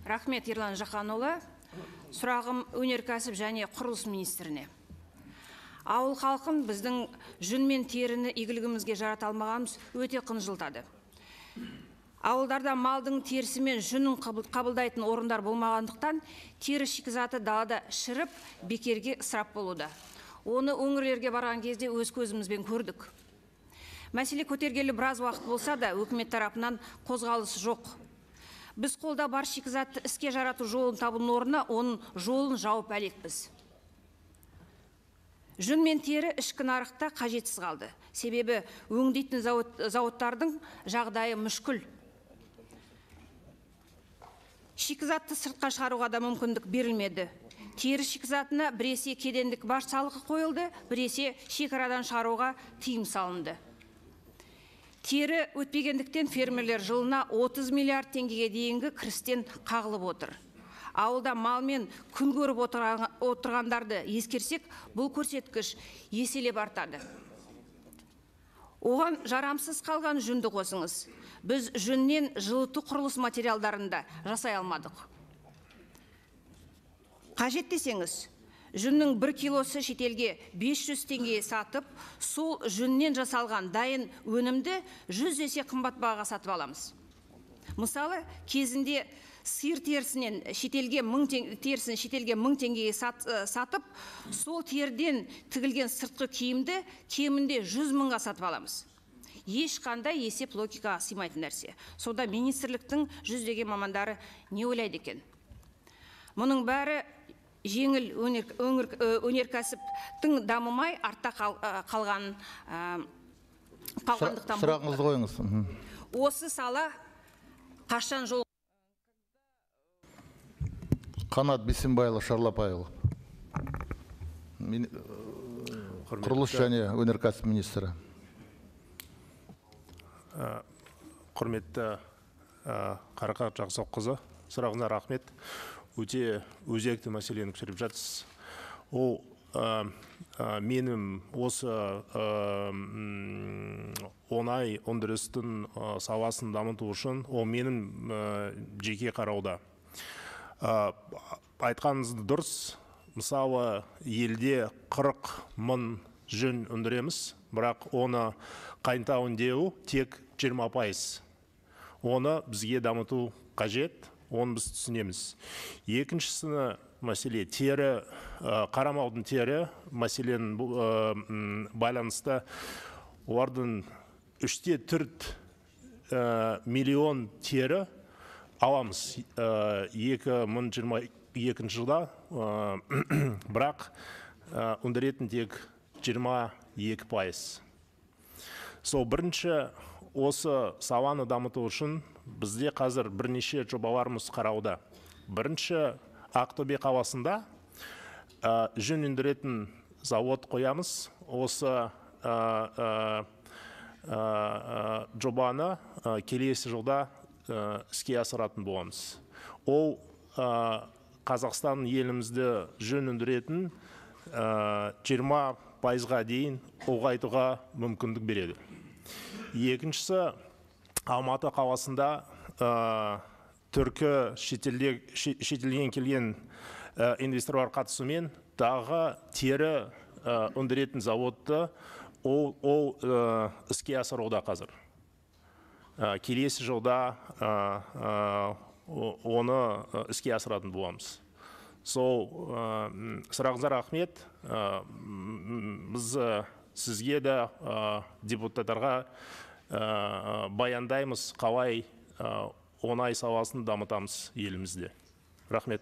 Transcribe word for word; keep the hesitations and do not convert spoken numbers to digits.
Рахмет, Ерлан Жақанұлы. Сұрағым өнеркәсіп және құрылыс министріне. Ауыл халқын біздің жүн мен теріні игілігімізге жарата алмағанымыз өте қынжылтады. Ауылдарда малдың терісі мен жүнін қабылдайтын орындар болмағандықтан, тері шикізаты далада шіріп, бекерге ысырап болуда. Оны өңірлерге барған кезде өз көзімізбен көрдік. Мәселе көтергелі біраз уақыт болса да, өкімет тарапынан қозғалысы жоқ. Біз қолда бар шикізатты іске жарату жолын табудың орнына, оның жолын жауып әлекпіз. Жүн мен тері ішкі нарықта қажетсіз қалды. Себебі өңдейтін зауыттардың жағдайы мүшкіл. Шикізатты сыртқа шығаруға да мүмкіндік берілмеді. Тері шикізатына біресе кедендік баж салығы қойылды, біресе шекарадан шығаруға тыйым салынды. Тері өтпегендіктен фермерлер жылына отыз миллиард теңгеге дейінгі кірістен қағылып отыр. Ауылда малмен күн көріп отырғандарды ескерсек, бұл көрсеткіш еселеп артады. Оған жарамсыз қалған жүнді қосыңыз. Біз жүннен жылыту құрылыс материалдарында жасай алмадық. Қажет десеңіз, жүннің бір килосы шетелге бес жүз теңге сатып, сол жүннен жасалған дайын өнімді жүз есе қымбат бағаға сатып аламыз. Мысалы, кезінде сиыр терісінен шетелге мың терісін шетелге мың теңгеге сатып, сол теріден тігілген сыртқы киімді кемінде жүз мыңға сатып аламыз. Ешқандай есеп логикаға сыймайтын нәрсе. Сонда министрліктің жүздеген мамандары не ойлайды екен? Мұның бәрі жеңіл өнеркәсіптің дамымай артта қалған қалғандықтан. Сұрағыңызды қойыңыз. Осы сала қашан жол? Қанат Бейсенбайұлы Шарлапайұлы, құрылыс және өнеркәсіп министрі. Құрметті Қарақат Жақсықызы, сұрағыңызға рахмет. Өте өзекті мәселені көтеріп жатсыз. Ол менің осы оңай өндірістің саласын дамыту үшін, ол менің жеке қарауда. Айтқаныңызды дұрыс, мысалы елде қырық мың жүн өндіреміз, бірақ оны қайта өңдеу тек жиырма пайыз. Оны бізге дамыту қажет, оны біз түсінеміз. Екіншісі мәселе тері, қарамаудың тері мәселен байланысты олардың үште төрт миллион тері аламыз екі мың жиырма екінші жылда, бірақ өндіретін тек жиырма екі пайыз. Сол бірінші осы саланы дамыту үшін бізде қазір бірнеше жобаларымыз қарауда. Бірінші Ақтөбе қаласында жүн өндіретін завод қоямыз. Осы жобаны келесі жылда іске асыратын боламыз. Ол Қазақстан елімізді жүн өндіретін жиырма пайызға дейін ұлғайтуға мүмкіндік береді. Екіншісі, Алматы қаласында түркі шетелден келген инвесторлар қатысуымен тағы тері өндіретін заводты ол іске асыруда қазір. Келесі жылда оны іске асыратын боламыз. Сол сұрағыңызға рахмет. Біз сізге де депутаттарға баяндаймыз, қалай оңай саласын дамытамыз елімізде. Рахмет.